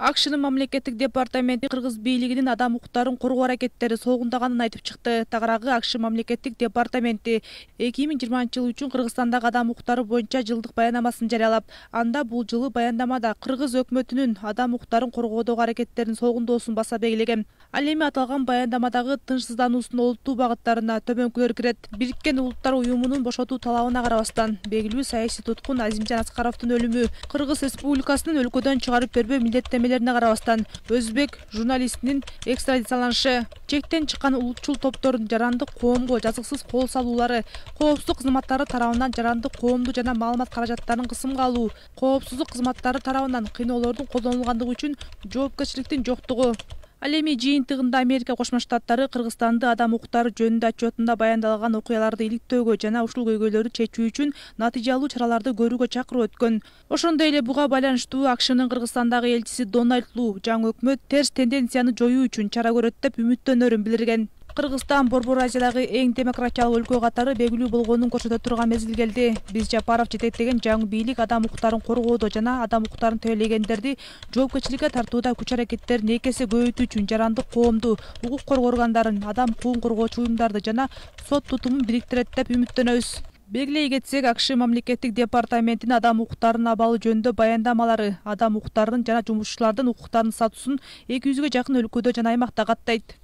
АКШнын мамлекеттик департаменти кыргыз бийлигинин адам укуктарын коргоо аракеттери согундаганын айтып чыкты. Тагыраагы АКШ мамлекеттик департаменти 2020 үчүн Кыргызстандагы адам укуктары боюнча жылдык баяндамасын жарыялап, анда бул жылы баяндамада кыргыз өкмөтүнүн адам укуктарын коргоодогу аракеттерин согундоосун баса белгилеген. Ал эми аталган баяндамадагы тынчсыздануусунун олуттуу багыттарына төмөнкүлөр кирет. Бириккен Улуттар уюмунун бошотуу талабына карабастан, белгилүү саясий туткун Азимжан Аскаровдун өлүмү, Кыргыз Республикасынын өлкөдөн чыгарып бербөө милдеттемелерине карабастан, өзбек журналистинин экстрадицияланышы, чектен чыккан улутчул топтордун жарандык коомго жазыксыз кол салуулары, коопсуздук кызматтары тарабынан жарандык коомду жана маалымат каражаттарын кысымга алуу, коопсуздук кызматтары тарабынан кыйноолордун колдонулгандыгы үчүн жоопкерчиликтин жоктугу. Ал эми жыйынтыгында Америка Кошмо Штаттары Кыргызстанды адам укуктары жөнүндө отчетунда баяндалган окуяларды иликтөөгө жана ушул көйгөйлөрдү чечүү үчүн натыйжалуу чараларды көрүүгө чакыруу өткөн. Ошондой эле буга байланыштуу АКШнын Кыргызстандагы элчиси Дональд Лу жаңы өкмөт терс тенденцияны жоюу үчүн чара көрөт деп үмүттөнөрүн билдирген. Кыргызстан Борбор Азиядагы эң демократиялык өлкө катары белгилүү болгонун көрсөтө турган мезгил келди. Биз Жапаров жетектеген жаңы бийлик адам укуктарын коргоодо жана адам укуктарын тейлегендерди жоопкерчиликке тартууда күч аракеттерин эки эсе көбөйтүү үчүн жарандык коомду, укук коргоо органдарын, адам укугун коргоочу уюмдарды жана сот тутумун бириктирет деп үмүттөнөбүз. Белгилей кетсек, АКШ мамлекеттик департаментинин адам укуктарынын абалы жөнүндө баяндамалары адам укуктарынын жана жумушчулардын укуктарынын статусун 200гө жакын өлкөдө жана аймакта каттайт.